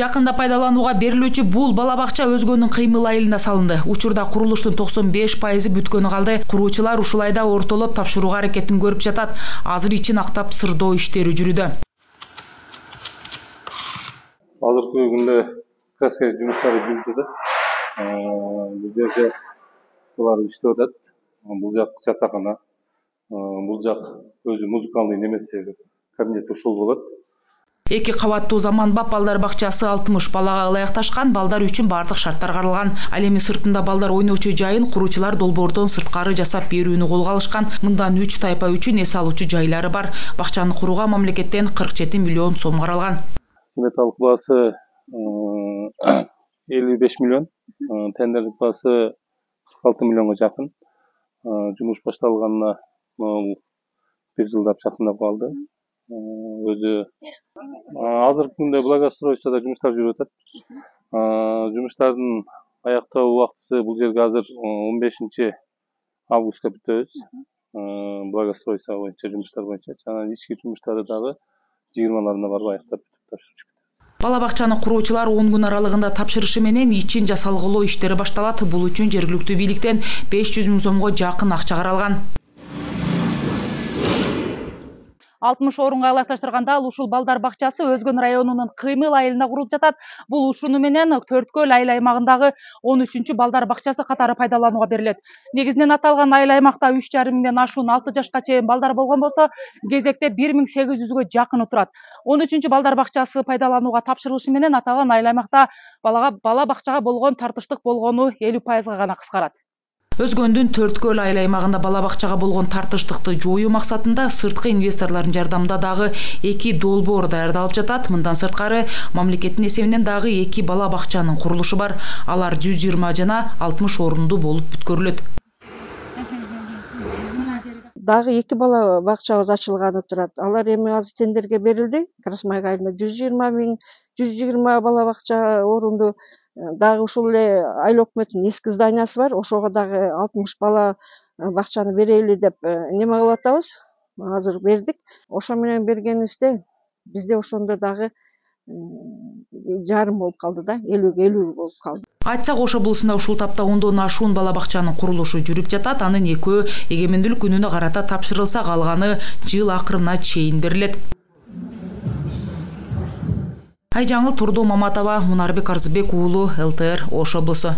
Жакында пайдаланууга берилүүчү бул бала бакча өзгөнүн кыймыл айылына салынды. Учурда курулуштун 95% бүткөнү калды. Куруучулар ушул айда ортолоп тапшырууга аракетин көрүп жатат. Азыр ичин актап сырдоо иштери жүрүүдө. Азыркы күндө краска жумуштары жүрүп жатат. Бул жерде булар иштеп атат. Бул жак жатакана. Бул жак өзү музыкалдык немеси кабинет ушул болот. 2 кабаттуу заманбап балдар бакчасы 60 балага ылайыкташкан, балдар үчүн бардык шарттар каралган. Ал эми сыртында балдар ойночу жайын куруучулар долбоордон сырткары жасап берүүнү колго алышкан. Мындан 3 тайпа үчүн эс алуучу жайлары бар. Бакчаны курууга мамлекеттен 47 миллион сом каралган. Сметалык баасы 55 миллион, тендерлик баасы 46 миллионго жакын. Жумуш башталганына 1 жылдап жакындап калды. Өзү азыркы күндө благоустройстводо жумуштар жүрүп атат. Жумуштардын аяктоо убактысы бул жерге азыр 15 августка бүтөбүз. Благоустройство боюнча жумуштар боюнча жана ички жумуштарды дагы 20-ларына барып аяктап тапшырып кетебиз. Бала бакчаны куруучулар 10 күн аралыгында тапшырышы менен ичин жасалгылоо иштери башталат. Бул үчүн жергиликтүү бийликтен 500 000 сомго жакын акча каралган. 60 орунга ылайыкташтырганда ушул балдар бакчасы Өзгөн районунун Кыймыл айылына курулуп жатат. Бул ушуну менен Төрткөл айыл аймагындагы 13-чү балдар бакчасы катары пайдаланууга берилет. Негизинен аталган айыл аймакта 3,5 миңден ашуун 6 жашка чейин балдар болгон болсо, кезекте 1800га жакыны турат. 13-чү балдар бакчасы пайдаланууга тапшырылышы менен аталган айыл аймакта бала бакчага болгон тартыштык болгону 50%га гана кыскарат. Өзгөндүн Төрткөл айыл аймагында бала бакчага болгон тартыштыкты жоюу максатында сырткы инвесторлордун жардамында дагы 2 долбоор даярдалып жатат. Мындан сырткары мамлекеттин эсебинен дагы 2 бала бакчанын курулушу бар. Алар 120 жана 60 орундуу болуп бүткөрүлөт. Дагы 2 бала бакчабыз ачылганы турат. Алар эми азыр тендерге берилди. Красмай айылында 120 бала бакча орунду. Дагы ушул эле айыл өкмөтүнүн эски зданиясы бар. Ошого дагы 60 бала бакчаны берели деп неме кылып атабыз. Азыр бердик. Ошо менен бергенибизде бизде ошондо дагы жарым болуп калды да, 50 болуп калды. Айтсак Ош облусунда ушул тапта 10дон ашуун бала бакчанын курулушу жүрүп жатат. Анын 2-өө эгемендүүлүк күнүнө карата тапшырылса, калганы жыл акырына чейин берилет. Айжаңыл Турдуу Маматова, Мунарбек Арзыбек уулу, ЛТР, Ош облусу.